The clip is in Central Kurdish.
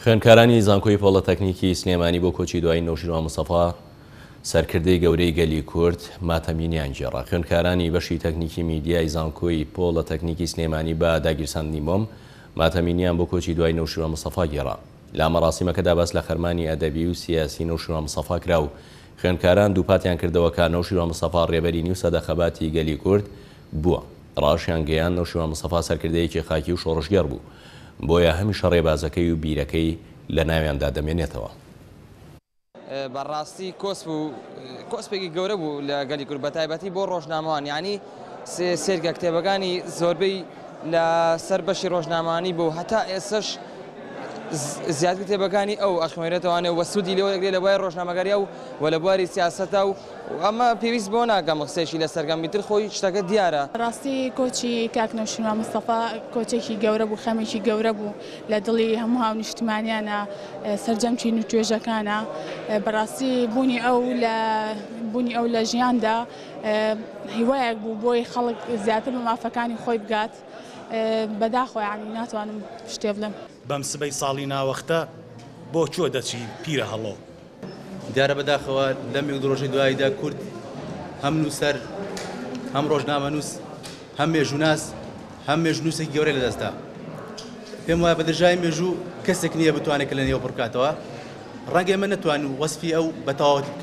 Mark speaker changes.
Speaker 1: خوێندکارانی زانکۆی پۆڵەتەکنیکی سلێمانی بۆ کۆچی دوایی نەوشیروان مستەفا، سەرکردەی گەورەی گەلی کورد، ماتەمینیان گێڕا. خوێندکارانی بەشی تەکنیکی میدیای زانکۆی پۆڵەتەکنیکی سلێمانی بە داگیرساندنی مۆم، ماتەمینیان بۆ کۆچی دوای نەوشیروان مستەفا گێڕا. لە مەراسیمەکەدا باس لە خەرمانی ئەدەبی و سیاسی نەوشیروان مستەفا کرا و خوێندکاران دووپاتیان کردەوە کە نەوشیروان مستەفا ڕێبەری نیو سەدە خەباتی گەلی کورد بووە. ڕاشیانگەیاند نەوشیروان مستەفا سەرکردەیەکی خاکی و شۆڕشگێڕ بوو، بۆیە هەمیشە ڕێبازەکەی و بیرەکەی لە ناویاندا دەمێنێتەوە.
Speaker 2: بە ڕاستی کۆسپ و کۆسپێکی گەورە بوو لە گەلی کورد بە تایبەتی بۆ ڕۆژنامەوان یعنی سێرگە کتێبەکانی زۆربەی لە سەر بەشی ڕۆژنامانی بوو هەتا ئێسش زیاتر کتێبەکانی ئەو ئەخوێنرێتەوانێ و سوودی لێوە دەگرێت لە بواری ڕۆژنامەگەری و و لە بواری سیاسەتە و ئەمە پێویست بۆ ناکەم قسەیەکی لەسەر کەم ئیتر خۆی شتەکە دیارە.
Speaker 3: ڕاستی کۆچی کاک نەوشیروان مستەفا کۆچێکی گەورە بوو، خەمێکی گەورە بوو لە دڵی هەموو هاونیشتمانیانە، سەرجەم چین و توێژەکانە. بەڕاستی بوونی ئەو لە بوونی ئەو لە ژیاندا هیوایەک بوو بۆی خەڵک زیاتر بە مافەکانی خۆی بگات. بەداخەوە یانی ناتوانم شتێ بڵێم.
Speaker 4: بەم سبەی ساڵی ناوەختە بۆ کوێ دەچی پیرە هەڵۆ؟
Speaker 5: دیارە بەداخەوە لەم یەک دوو ڕۆژەی دواییدا کورد هەم نووسەر، هەم ڕۆژنامەنووس، هەم مێژووناس، هەم مێژوونووسێکی گەورەی لەدەستدا. پێم وایە بە درێژایی مێژوو کەسێک نییە بتوانێت کە لە نێو پڕ بکاتەوە. ڕەنگە ئێمە نەتوانین وەسفی ئەو بە تەواوەتی بکەین.